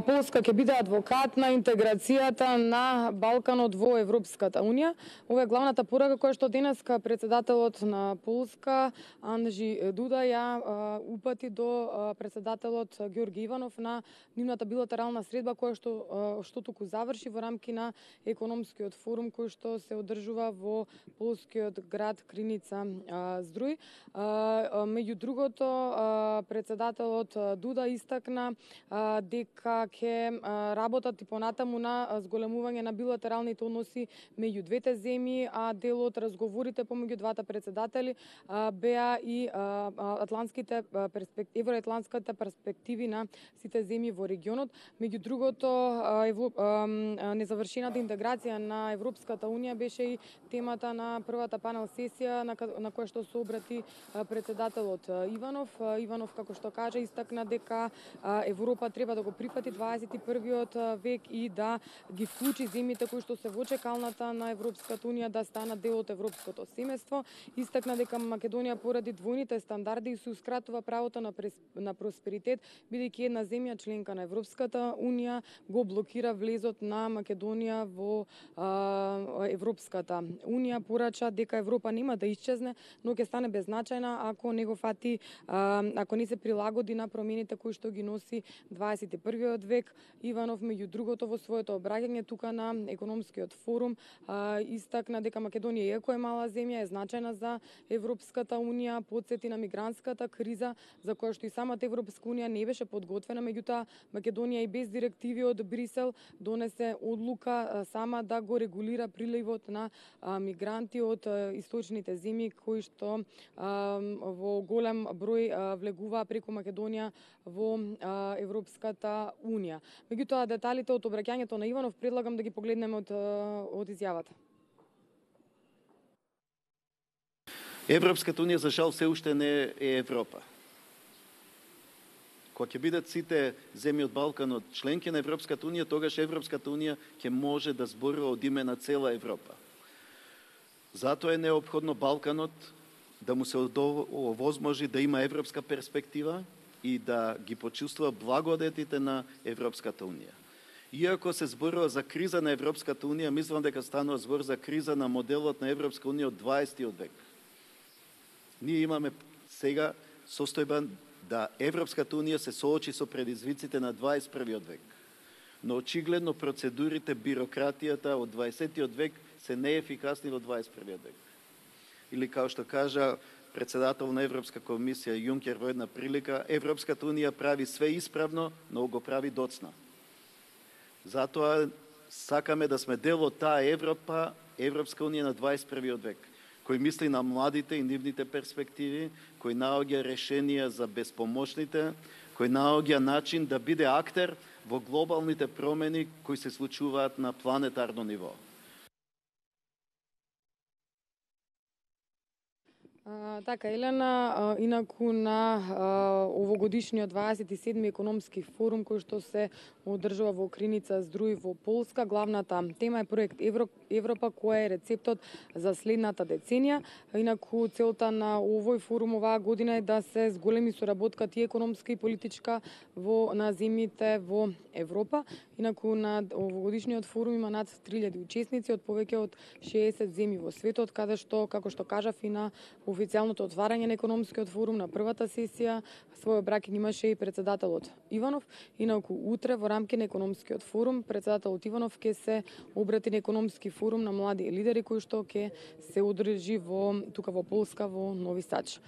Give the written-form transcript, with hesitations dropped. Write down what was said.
Полска ќе биде адвокат на интеграцијата на Балканот во Европската унија. Ова е главната порака која што денеска председателот на Полска Анджи Дуда ја упати до председателот Ѓорги Иванов на нивната билатерална средба која што туку заврши во рамки на економскиот форум кој што се одржува во полскиот град Криница Здруј. Меѓу другото, председателот Дуда истакна дека ќе работат и понатаму на зголемување на билатералните односи меѓу двете земји, а дел од разговорите помеѓу двата председатели беа и евроатлантските перспективи на сите земји во регионот. Меѓу другото, незавршената интеграција на Европската унија беше и темата на првата панел сесија на која што се обрати председателот Иванов. Иванов, како што кажа, истакна дека Европа треба да го прифати 21-виот век и да ги вклучи земјите кои што се во чекалната на Европската унија да станат дел од европското семејство. Истакна дека Македонија поради двојните стандарди се ускратува правото на просперитет, бидејќи една земја членка на Европската унија го блокира влезот на Македонија во Европската унија. Порача дека Европа нема да исчезне, но ќе стане беззначајна ако не го фати, ако не се прилагоди на промените кои што ги носи 21-виот век. Иванов, меѓу другото, во своето обраќање тука на економскиот форум истакна дека Македонија, иако е мала земја, е значајна за Европската унија, потсети на мигрантската криза за која што и самата Европска унија не беше подготвена, меѓутоа Македонија и без директиви од Брисел донесе одлука сама да го регулира приливот на мигранти од источните земји кои што во голем број влегуваа преку Македонија во Европската унија. Меѓутоа, деталите од обраќањето на Иванов предлагам да ги погледнеме од изјавата. Европската унија за жал се уште не е Европа. Кога ќе бидат сите земји од Балканот членки на Европската унија, тогаш Европската унија ќе може да зборува од име на цела Европа. Затоа е неопходно Балканот да му се овозможи да има европска перспектива и да ги почувствува благодетите на Европската унија. Иако се зборува за криза на Европската унија, мислам дека станува збор за криза на моделот на Европска унија од 20-тиот век. Ние имаме сега состојба да Европската унија се соочи со предизвиците на 21-виот век. Но очигледно процедурите, бирократијата од 20-тиот век се неефикасни во 21-виот век. Или као што кажа председател на Европска комисија Јункер во една прилика, Европската унија прави све исправно, но го прави доцна. Затоа сакаме да сме дел од таа Европа, Европска унија на 21-виот век, кој мисли на младите и нивните перспективи, кој наоѓа решенија за безпомошните, кој наоѓа начин да биде актер во глобалните промени кои се случуваат на планетарно ниво. Така, Елена, инаку на овогодишниот 27-ми економски форум кој што се одржува во Криница Здруј во Полска, главната тема е проект Европа, кој е рецептот за следната деценија. Инаку целта на овој форум оваа година е да се зголеми соработката и економска и политичка на земјите во Европа. Инаку на овогодишниот форум има над 3000 учесници од повеќе од 60 земји во светот, каде што, како што кажав, и на официјалното отварање на економскиот форум на првата сесија свој обраќање имаше и председателот Иванов. Инаку утре во рамки на економскиот форум председателот Иванов ќе се обрати на економски форум на млади лидери кои што ќе се одржи тука во Полска во Нови Сад.